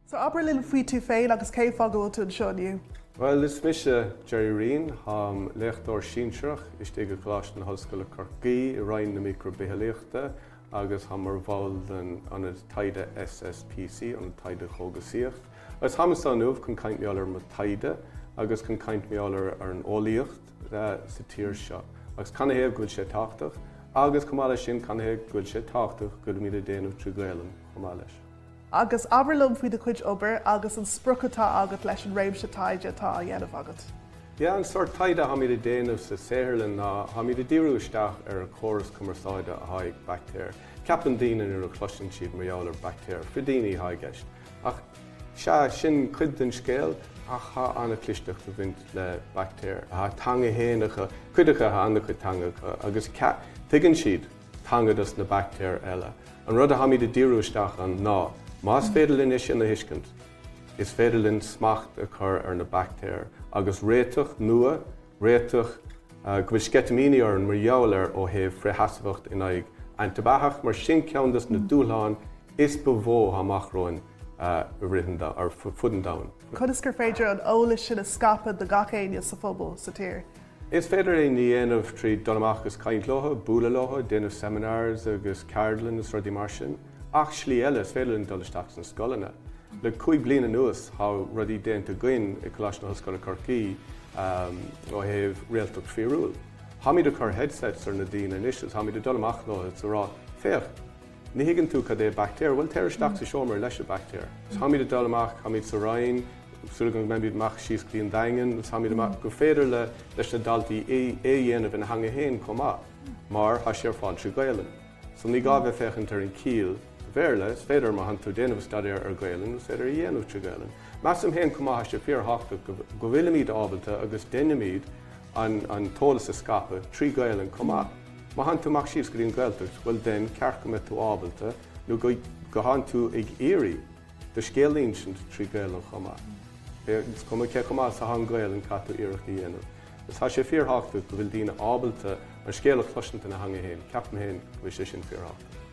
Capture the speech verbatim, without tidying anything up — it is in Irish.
So abair linn faoi tú féin agus cén fáth go bhfuil tú anseo inniu. Well, is mise Gerry Ryan, táim léachtóir sinsearach istigh i gColáiste na hOllscoile Corcaigh i Roinn na Micribhitheolaíochta agus táim mar bhall den Ionad Taighde SSPC, an Taighde Chógasaíocht. Agus táim anseo inniu chun caint mar gheall ar mo taighde agus chun caint mar gheall ar an eolaíocht sa tír seo. Agus canathaobh go bhfuil sé tábhachtach, agus chomh maith leis sin canathaobh go bhfuil sé tábhachtach go bhfuilimid ag déanamh trí Ghaelainn chomh maith leis. Agus abair liom faoi do chuid obair agus an sprioc atá agat leis an réimse taighde atá á dhéanamh agat. Ja an sort taighde atáimid ag déanamh sa saotharlann ná táimid ag díriú isteach ar an chóras cumarsáide atá ag baictéir. Ceapann daoine nuair a chloiseann siad mar gheall ar baictéir, frídíní atá i gceist. Ach sea sin cuid den scéal ach tá an-chlisteacht ag baint le baictéir. Tá teanga féin acu, cuid acu tá an-chuid teanga acu agus tuigeann siad teanga dos na baictéir eile. An rud atáimid ag díriú isteach ann ná, más féidir linn é sin a thuiscint, is féidir linn smacht a chur ar na baictéir agus réiteach nua, réiteach go bhfuil sceitimíní orainn mar gheall ar ó thaobh frithsheasmhacht in aghaidh antaibheathach mar sin ceann des na dúshláin is ba mhó amach romhainn rith ar fud an domhain. Conas gur féidir an eolas sin a scaipeadh do gach éinne sa phobal sa tír. Is féidir é a dhéanamh trí dul amach agus caint leo, bualadh leo, déanamh seminars agus ceardlann is rudaí mar sin. Ach slí eile is féidir linn dul isteach sna scoileanna. Le cúig bliana anuas tá rudaí déanta againn i Coláiste na hOllscoile Corcaigh ó thaobh réaltacht fíorúil. Táimid ag cur headsets ar na daoine anois is táimid ag dul amach leo is rá féach, ní thuigeann tú cad é baictéar, bhuel téir isteach sa seomra leis an baictéar. Táimid ag dul amach táimid sa Rinn, súil go mbeimid amach síos go dtí an Daingean, táimid amach go féidir le leis na daltaí é é dhéanamh ina theanga féin chomh maith, mar tá sé ar fáil trí Ghaelainn. So ní gá bheith féachaint ar an chiall Bhéarla, is féidir má thánn tú déanamh staidéar ar Ghaelainn, is féidir a dhéanamh trí Ghaelainn. Measaim féin chomh maith sé fíorthábhachtach go bhfuilimid ábalta agus déanaimid an, an t-eolas a scaipeadh trí Ghaelainn chomh maith. Má thánn tú amach síos go dtí an Ghaeltacht, bhuel den ceart go mbeidh tú ábalta nó go go thánn tú ag iarraidh do scéal a insint trí Ghaelainn chomh maith. Is cuma cé chomh maith is atá an Ghaelainn caithfidh tú iarracht a dhéanamh. Is tá sé fíorthábhachtach go bhfuil daoine ábalta an scéal a chloisint ina theanga féin, ceapaim féin go bhfuil sé sin fíorthábhachtach.